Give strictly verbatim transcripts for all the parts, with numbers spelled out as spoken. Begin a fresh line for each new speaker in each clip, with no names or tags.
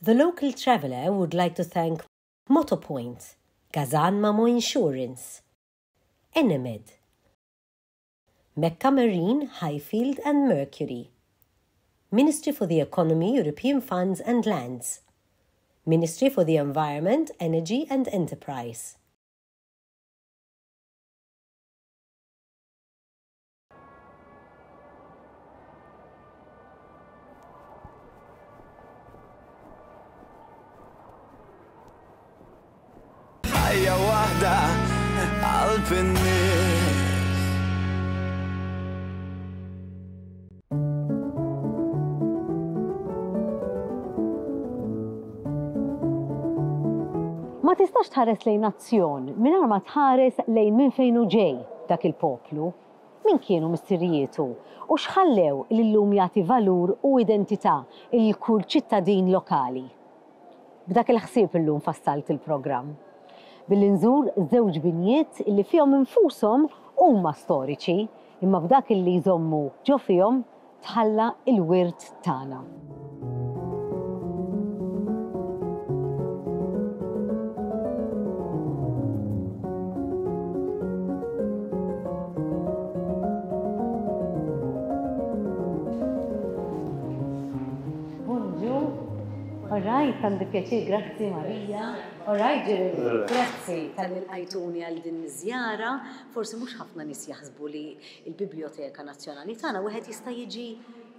The Local Traveller would like to thank Motopoint, Gazan Mamo Insurance, Enemed, Mecca Marine, Highfield and Mercury, Ministry for the Economy, European Funds and Lands, Ministry for the Environment, Energy and Enterprise.
Ħajja waħda qalb in-nies.
Ma tistax tħares lejn nazzjon mingħajr ma tħares lejn minn fejn hu ġej dak il-poplu, min kienu missirijietu u x'ħallew li llum jagħti valur u identità lil kull ċittadin lokali. B'dak il-ħsieb illum fassalt il-programm. Billi nżur żewġ binjiet li fihom infushom huma storiċi, imma b'dak li jżommu ġo fihom tħalla il-wirt tagħna. Bonġu. All right, għandi pjaċir, grazzi Marija. All right, Jeremy, grazzi talli lqajtuni għal din iż-żjara. Forsi mhux ħafna nies jaħsbu li l-Biblioteka Nazzjonali tagħna wieħed jista' jiġi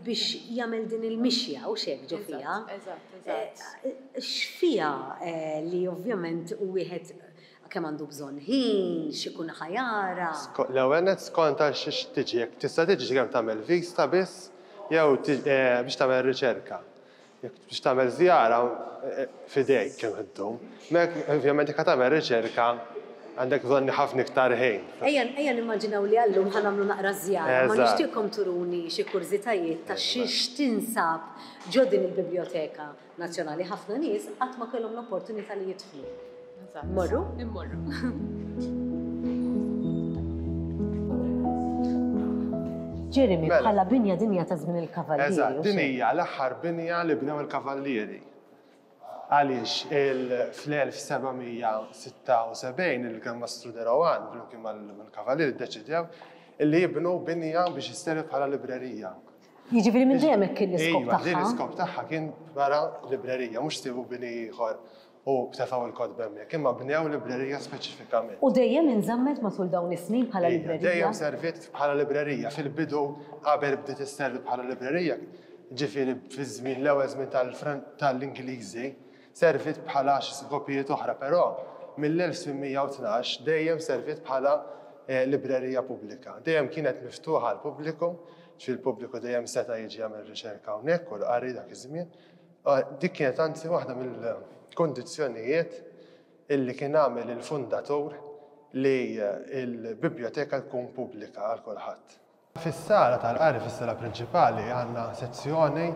biex jagħmel din il-mixja u xek ġo fiha.
Eżatt, eżatt.
Eh, X'fiha eh, li ovvjament wieħed kemm għandu bżonn ħin, x'ikun ħa jara.
L-ewwel nett skont għal xiex tiġi, jekk tista' tiġi kemm tagħmel vista biss jew eh, biex tagħmel riċerka. Jekk biex tagħmel żjara eh, f'idejk kemm iddum. Mek ovvjament jekk tagħmel riċerka għandek bżonn ħafna iktar ħin.
Ejja, ejja nimmaġinaw li għallum ħa nagħmlu naqra żjara, ma
Eżatt.
nixtieqkom turuni xi kurżitajiet ta' xiex tinsab ġo din il-Biblioteka Nazzjonali. Ħafna nies qatt ma kellhom l-opportunità li jidħlu.
Eżatt.
Morru?
Immorru.
Jeremy,
Mela.
bħala binja dinja ta' żmien il-Kavallieri.
Eżatt,
u
din
xejn.
hija l-aħħar binja li bnew il-Kavallieri. Għaliex il- fl-elf seba' mija sitta u sebgħin il-Gran Mastru de Rohan, flimkien mal-Kavallieri, ddeċidew illi jibnu binja biex isservi bħala librerija.
Jiġifieri minn dejjem hekk kien l-iskop
Iva, din
tagħha.
l-iskop tagħha kien bħala librerija, mhux sibu bini ieħor u tefgħu il-kotba hemmhekk, imma bnew librerija speċifikament.
U dejjem inżammet matul dawn is-snin bħala
Ija,
librerija.
Dejjem serviet bħala librerija. Fil-bidu qabel bdiet isservi bħala librerija, ġifieri fi żmien l-ewwel żmien tal-Fran- tal-Ingliżi, serviet bħala xi skopijiet oħra, però mill-elf tmien mija u tnax dejjem serviet bħala eh, librerija pubblika. Dejjem kienet miftuħa għal pubbliku, ġifieri il-pubbliku dejjem seta' jiġi jagħmel riċerka hawnhekk u l-qari dak iż-żmien. Ah, Dik kienet anzi waħda mill-kondizzjonijiet illi kien għamel il-fundatur li eh, il-biblioteka tkun pubblika għal kulħadd. Fis-sala tal-qari, fis-sala prinċipali, għandna sezzjoni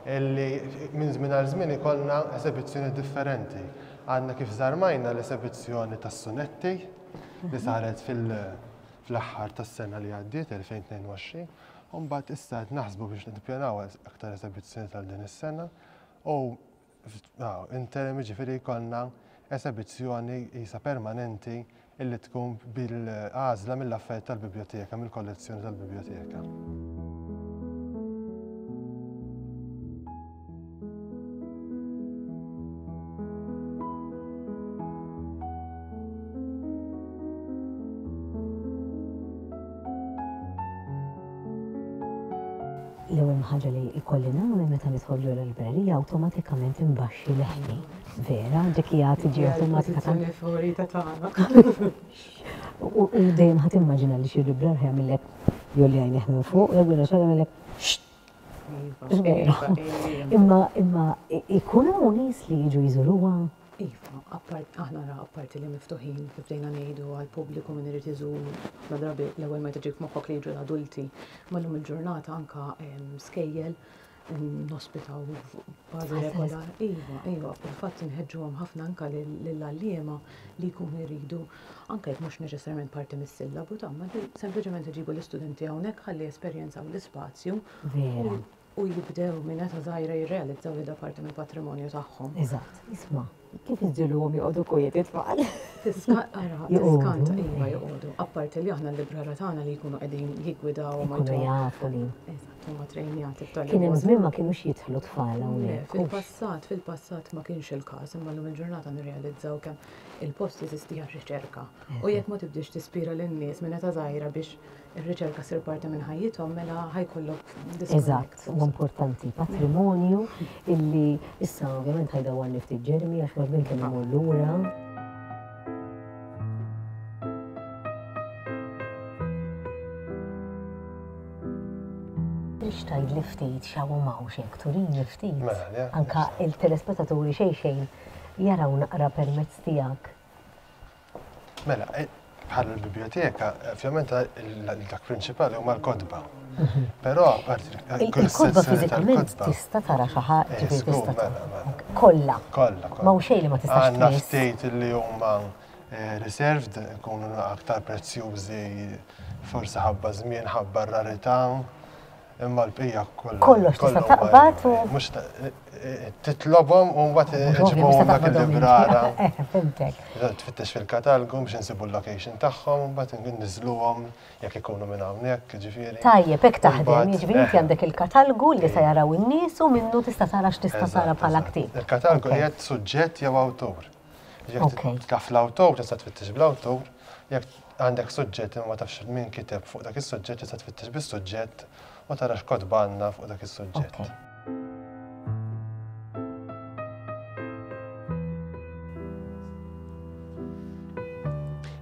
illi minn żmien għal żmien ikollna esebizzjoni differenti. Għandna kif żarmajna l-esebizzjoni tas-sunetti li saret fil- fl-aħħar tas-sena li għaddiet elfejn u tnejn u għoxrin, u mbagħad issa qed naħsbu biex nippjanaw aktar esebizzjoni tal din is-sena u interim, ġifieri jkollna esebizzjoni isa permanenti illi tkun bil-għażla mill-affarijiet tal-biblioteka, mill-kollezzjoni tal-biblioteka.
L-ewwel ħaġa li jkolli nagħmel meta nidħol ġo l-librerija, awtomatikament imbaxxi leħni. Vera, dik hija tiġi awtomatika ta'
Il-pożizzjoni favorita tagħna.
U u dejjem ħadd immaġina li xi librar jagħmellek jolli għajnejh minn fuq, jew jiena xi jagħmellek "Xxt".
Iva,
Vera. Imma imma ikun hawn nies li jiġu jżuruha.
Iva, appart, aħna ra apparti li miftuħin kif bdejna ngħidu għal pubbliku min irid iżur, ħafna drabi l-ewwel ma tiġik moħħok li jiġu l-adulti, ma llum il-ġurnata anka em, skejjel em, nospitaw bażi regolari. Iva, iva, fil-fatt inħeġġuhom ħafna anka lill-għalliema li jkunu jridu, anka jekk mhux neċessarjament parti mis-sillabu ta' ma li sempliċement iġibu l-istudenti hawnhekk ħalli jesperjenzaw l-ispazju.
Vera.
U jibdew minn età żgħira jirrealizzaw li da parti mill-patrimonju tagħhom.
Eżatt, isma', kif iġġiegħluhom joqogħdu kwieti tfal?
Ara, tiskanta, iva joqogħdu. Apparti li aħna l-librara tagħna li jkunu qegħdin jiggwidaw
ma jkunu jafu li.
Eżatt, huma trejnjati b'tali.
Kien hemm żmien ma kinux jidħlu tfal hawnhekk.
Fil-passat, fil-passat ma kienx il-każ, imma llum il-ġurnata nirrealizzaw kemm il-post jeżisti għar-riċerka. U jekk ma tibdiex tispira lin-nies minn età żgħira biex ir-riċerka ssir parti minn ħajjithom, mela ħa jkollok
Eżatt, huwa importanti, patrimonju illi issa ovvjament ħa jdawwarni ftit Jeremy għax ma kemm imur lura. Tridx tgħidli ftit x'hawn m'hawnx hekk, turini ftit. Anka il-telespettaturi xejn xejn jaraw naqra permezz tiegħek.
Mela, bħala l-biblioteka, ovvjament dak prinċipali huma l-kotba. Però apparti
il-kotba fiżikament tista' tara xi ħaġa, ġifieri tista' tara. Kollha.
Kollha.
M'hawn xejn li ma tistax
Għandna ftit li huma reserved, ikunu aktar prezzjużi, forsi ħabba żmien, ħabba rarità, imma l-bqija kollha.
Kollox tista' taqbad u
mhux titlobhom u mbagħad iġibuhom dak il-librara.
Fhimtek.
Tfittex fil-katalgu biex insibu l-location tagħhom u mbagħad inniżluhom jekk ikunu minn hawnhekk, ġifieri.
Tajjeb, hekk taħdem, jiġifieri inti għandek il-katalgu li se jaraw in-nies u minnu tista' tara x'tista' tara bħala ktieb.
Il-katalgu qiegħed suġġett jew awtur. Jekk taf l-awtur tista' tfittex bl-awtur, jekk għandek suġġett imma ma tafx min kiteb fuq dak is-suġġett tista' tfittex bis-suġġett u tara x'kotba għandna fuq dak is-suġġett.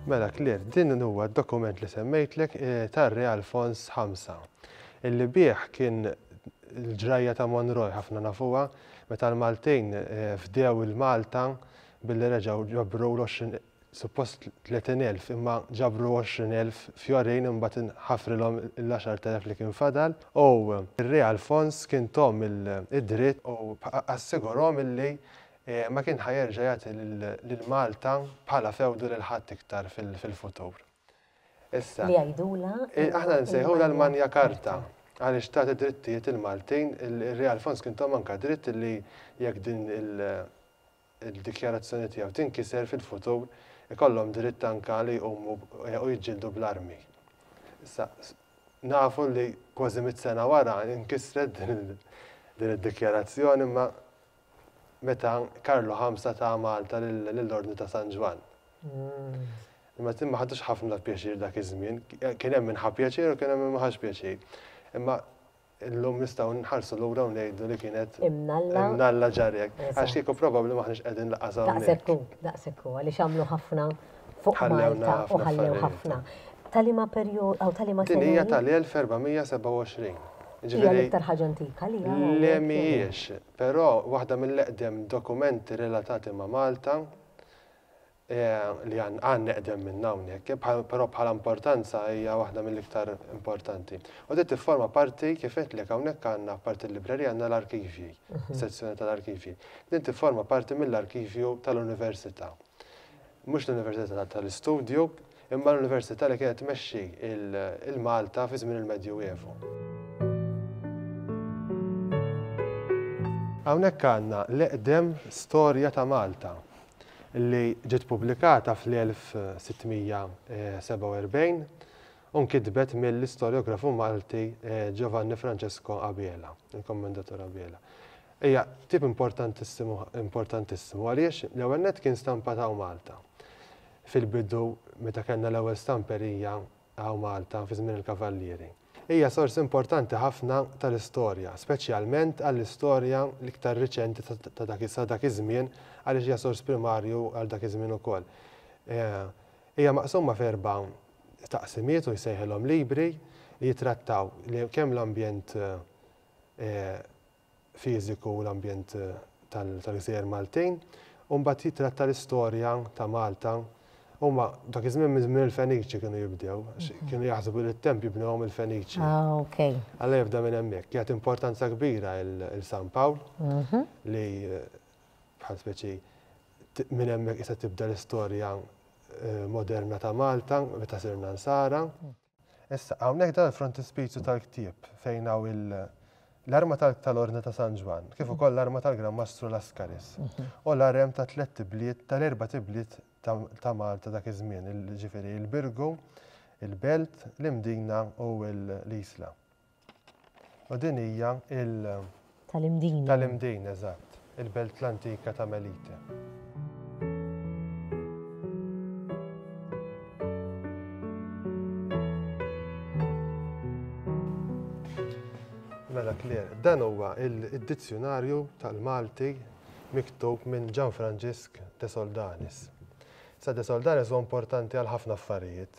Mela, Claire, din huwa d-dokument li semmejtlek tar-Re Alfons ħamsa, illi bih kien l-ġrajja ta' Monroy ħafna nafuha meta l-Maltin fdew il-Malta billi reġgħu ġabru l-għoxrin, suppost tletin elf, imma ġabru għoxrin elf fjorin imbagħad ħafrilhom l-għaxart elef li kien fadal. U r-Re Alfons kien tom id-dritt u assigurhom illi ma kien ħa jerġa' jagħti lil Malta bħala fewdu lil ħadd iktar fil-futur. Issa.
Li jgħidula?
Aħna nsejħulha l-Magna Carta għaliex tagħti drittijiet il-Maltin, ir-Re Alfons kien tom anke dritt li jekk din il-dikjarazzjoni tiegħu tinkiser fil-futur ikollhom dritt anke li jqumu u jiġġieldu bl-armi. Issa nafu li kważi mitt sena wara inkisret din id-dikjarazzjoni imma meta Karlu ħamsa ta' Malta lill-Ordni ta' San Ġwann. Imma ma ħadux ħafna pjaċir dak iż-żmien, kien hemm min ħa pjaċir u kien hemm min ma ħax pjaċir. Imma illum nistgħu nħarsu lura u ngħidu li kienet
Imnalla.
Imnalla ġarrek. Għax kieku probabbli maħniex qegħdin laqas hawnhekk.
Daqshekk hu, daqshekk hu, għaliex għamlu ħafna fuq Malta u ħallew ħafna. Tal-liema perjodu aw tal-liema
Din hija tal-elf erba' mija sebgħa u għoxrin.
Hija l-iktar ħaġa antika li hawn.
Le mhijiex, però waħda mill-eqdem dokumenti relatati ma' Malta li għandna eqdem minn hawnhekk, però bħala importanza hija waħda mill-iktar importanti. U dit tifforma parti kif għedtlek hawnhekk għandna parti l-librerija għandna l-arkivji, sezzjoni tal-arkivji. Din tifforma parti mill-arkivju tal-università. Mhux l-università tal-istudju, imma l-università li kienet tmexxi il-Malta fi żmien il-Medjuevu. Hawnhekk għandna l-eqdem storja ta' Malta li ġiet pubblikata fl-elf sittmija sebgħa u erbgħin u nkitbet mill-istoriografu Malti Giovanni Francesco Abela, il-Kommendatur Abela. Hija tip importantissimu, importantissimu għaliex l-ewwel nett kien stampat hawn Malta. Fil-bidu meta kellna l-ewwel stamperija hawn Malta fi żmien il-Kavallieri. Hija sors importanti ħafna tal-istorja, speċjalment għall-istorja l-iktar riċenti ta' dak sa dak iż-żmien għaliex hija sors primarju għal dak iż-żmien ukoll. Hija maqsuma f'erba' taqsimiet u jsejħilhom libri li jitrattaw kemm l-ambjent fiżiku u l-ambjent tal-gżejjer Maltin, u mbagħad jitratta l-istorja ta' Malta. Huma dak iż-żmien minn żmien il-Feniċi kienu jibdew, għax kienu jaħsbu li t-tempju bnewhom il-Feniċi.
Ah, ok.
Alla jibda minn hemmhekk. Jagħti importanza kbira il San Pawl li bħal speċi minn hemmhekk issa tibda l-istorja moderna ta' Malta meta sirna nsara. Issa hawnhekk dan il-frontispizju tal-ktieb fejn hawn il L-arma tal-Ordni ta' San Ġwann, kif ukoll l-arma tal-Gran Mastru Lascaris. U l-arem ta' tliet ibliet, tal-erba' ibliet ta' Malta dak iż-żmien, ġifieri il-Birgu, il-Belt, l-Imdina u l-Isla. U din hija il-
Tal-Imdina.
Tal-Imdina, eżatt, il-Belt l-antika ta' Melite. Mela Claire, dan huwa il-dizzjonarju tal-Malti miktub minn Gian Franġisk de Soldanis. Sa de Soldanis huwa importanti għal ħafna affarijiet,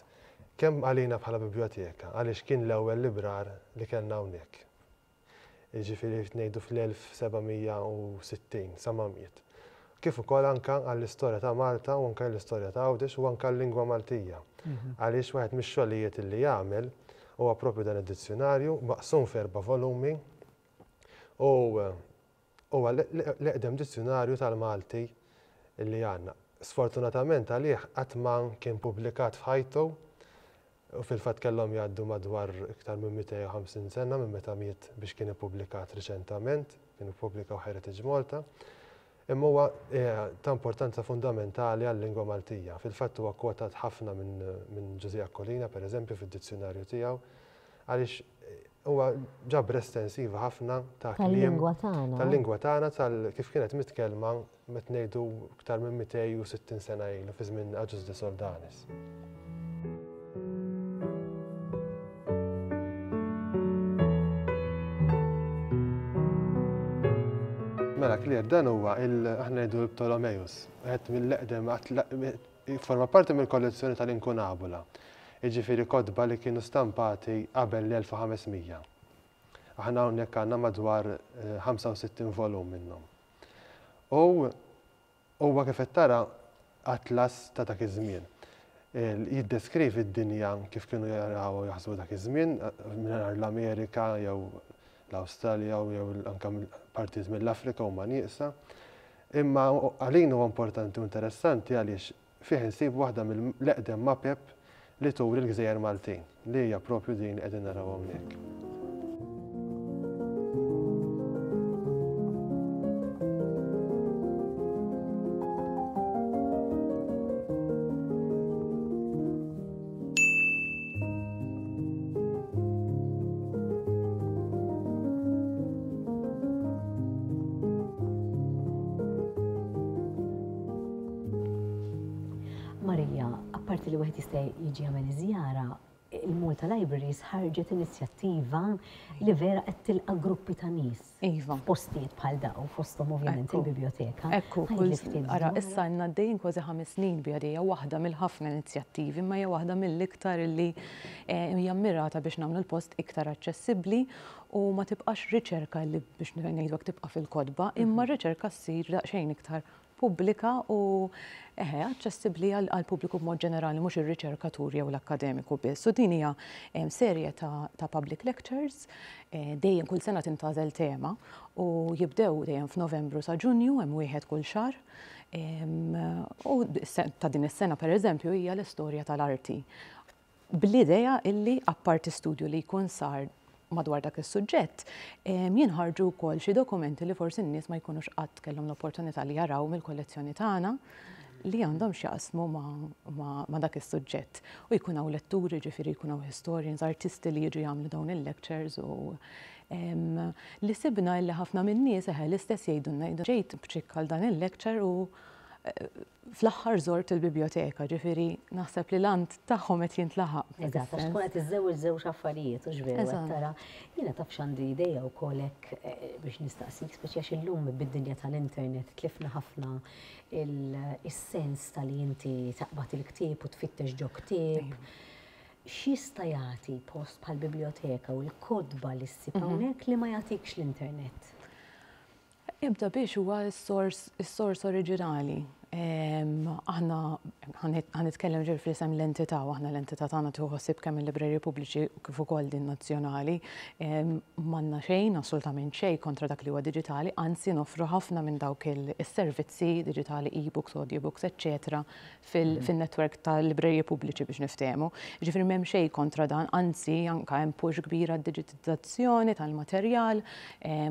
kemm għalina bħala biblioteka, għaliex kien l-ewwel librar li kellna hawnhekk. Jiġifieri ngħidu fl-elf seba' mija u sittin sa ma miet. Kif ukoll anke għall-istorja ta' Malta u anke l-istorja ta' Għawdex u anke l-lingwa Maltija. Għaliex wieħed mix-xogħlijiet li jagħmel huwa propju dan id-dizzjonarju maqsum f'erba' volumi u huwa l-eqdem dizzjonarju tal-Malti li għandna. Sfortunatament għalih qatt ma kien pubblikat f'ħajtu u fil-fatt kellhom jgħaddu madwar iktar minn mitejn u ħamsin sena minn meta miet biex kien ippubblikat riċentament, kien ippubblikaw Heritage Malta. Imma huwa ta' importanza fundamentali għal-lingwa Maltija. Fil-fatt huwa kwotat ħafna minn Ġużè Aquilina, per eżempju, fid-dizzjonarju tiegħu, għaliex huwa ġabra estensiva ħafna ta' kliem
Tal-lingwa tagħna.
Tal-lingwa tagħna, tal kif kienet mitkellma meta ngħidu iktar minn mitejn u sittin sena ilu fi żmien Agius de Soldanis. Mela Claire, dan huwa il aħna ngħidu l-Ptolemeus, wieħed mill-eqdem forma parti mill-kollezzjoni tal-Inkunabula. Jiġifieri kotba li kienu stampati qabel l-elf u ħames mija. Aħna hawnhekk għandna madwar ħamsa u sittin volum minnhom. U huwa kif qed tara atlas ta' dak iż-żmien. Jiddeskrivi d-dinja kif kienu jaraw u jaħsbu dak iż-żmien, mingħajr l-Amerika jew l-Awstralja jew anke partijiet mill-Afrika huma nieqsa. Imma għalina huwa importanti u interessanti għaliex fih insibu waħda mill-eqdem mapep li turi l-Gżejjer Maltin, li hija propju din li qegħdin naraw hawnhekk.
Marija, apparti li wieħed jista' jiġi jagħmel iżjara, il-Malta Libraries ħarġet inizjattiva li vera qed tilqa' gruppi ta' nies.
Iva.
Postijiet bħal daw, fosthom ovvjament
Ekku.
il-biblioteka.
Ekku,
Ħalli
kull
ftit
ara,
dwar.
issa għandna għaddejjin kważi ħames snin biha dejja waħda mill-ħafna inizjattivi, imma hija waħda mill-iktar li, eh, hija mmirata biex nagħmlu l-post iktar aċċessibbli u ma tibqax riċerka li biex ngħidu hekk tibqa' fil-kotba, imma r-riċerka ssir daqsxejn iktar pubblika u eħe, aċċessibbli għal, għal pubbliku b'mod ġenerali, mhux ir-riċerkatur jew l-akkademiku biss. U din hija, em, serje ta', ta' public lectures, eh, dejjem kull sena tintgħażel tema u jibdew dejjem f'Novembru sa Ġunju, hemm wieħed kull xahar. Em, u ta' din is-sena pereżempju hija l-istorja tal-arti. Bl-idea illi apparti studju li jkun sar madwar dak is-suġġett, em, jinħarġu wkoll xi dokumenti li forsi n-nies ma jkunux qatt kellhom l-opportunità li jaraw mill-kollezzjoni tagħna li għandhom x'jaqsmu ma, ma, ma dak is-suġġett. U jkun hawn letturi, ġifieri jkun hawn historians, artisti li jiġu jagħmlu dawn il-lectures u, em, li sibna li ħafna min-nies eħe l-istess jgħidulna jgħidu ġejt b'ċikk għal dan il-lecture u, eh, fl-aħħar żort il-biblioteka, ġifieri naħseb li l-ant tagħhom qed jintlaħaq.
Eżatt, għax tkun qed iżżewweġ żewġ affarijiet, u x'veru qed
Eżatt.
tara. Jiena taf x'għandi idea wkoll hekk, eh, biex nistaqsik, speċi għax illum bid-dinja tal-internet tlifna ħafna il-, is-sens tal-li inti taqbad il-ktieb u tfittex ġo ktieb.
Iva.
X'jista' jagħti post bħal biblioteka u l-kotba li ssib
Mhm.
hawnhekk li ma jagħtikx l-internet?
Ibda biex huwa s-sors, is-sors oriġinali. Aħna ħa nitkellem ġifieri fl-isem l-entità, u aħna l-entità tagħna tieħu ħsieb kemm il-libreriji pubbliċi kif ukoll din nazzjonali. M'għandna xejn, assolutament xejn kontra dak li huwa diġitali, anzi noffru ħafna minn dawk is-servizzi diġitali, e-books, audiobooks, eċċetera, fil-network tal-libreriji pubbliċi biex niftehmu. Ġifieri m'hemm xejn kontra dan, anzi anke hemm push kbira digitizzazzjoni tal-materjal,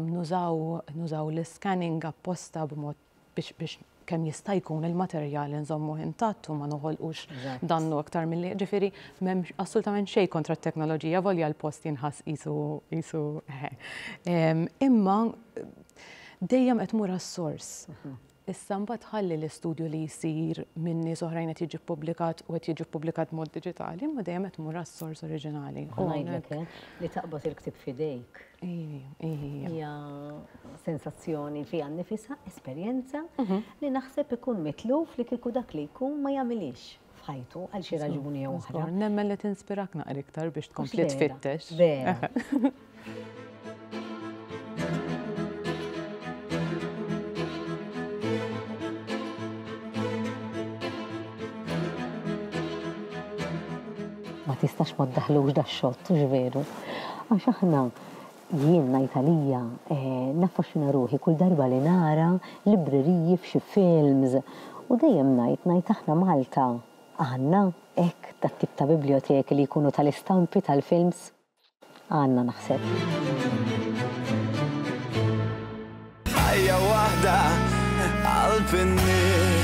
nużaw nużaw l-scanning apposta b'mod biex biex kemm jista' jkun il-materjal nżommu intatt u ma noħolqux dannu aktar milli. Ġifieri m'hemm assolutament xejn kontra t-teknoloġija, volja l-post jinħass qisu qisu Imma dejjem qed tmur għas-sors. Issa mbagħad ħalli l-istudju li jsir minn nies oħrajn qed jiġi ppubblikat u qed jiġi ppubblikat mod diġitali, imma dejjem qed tmur għas-sors oriġinali.
U ngħidlek li taqbad il-ktieb f'idejk. Hija sensazzjoni fiha nnifisha, esperjenza li naħseb ikun mitluf li kieku dak li jkun ma jagħmilix f'ħajtu għal xi raġuni jew oħra.
Nemmen li tinspirak naqra iktar biex tkompli tfittex.
Vera. Ma tistax ma ddaħlux da xott, hux veru. Għax aħna jien ngħid għalija naffaxxina ruħi kull darba li nara libreriji f'xi films u dejjem ngħid ngħid aħna Malta għandna hekk dat-tip ta' biblioteki li jkunu tal-istampi tal-films għandna naħseb.
Ħajja waħda qalb in-nies.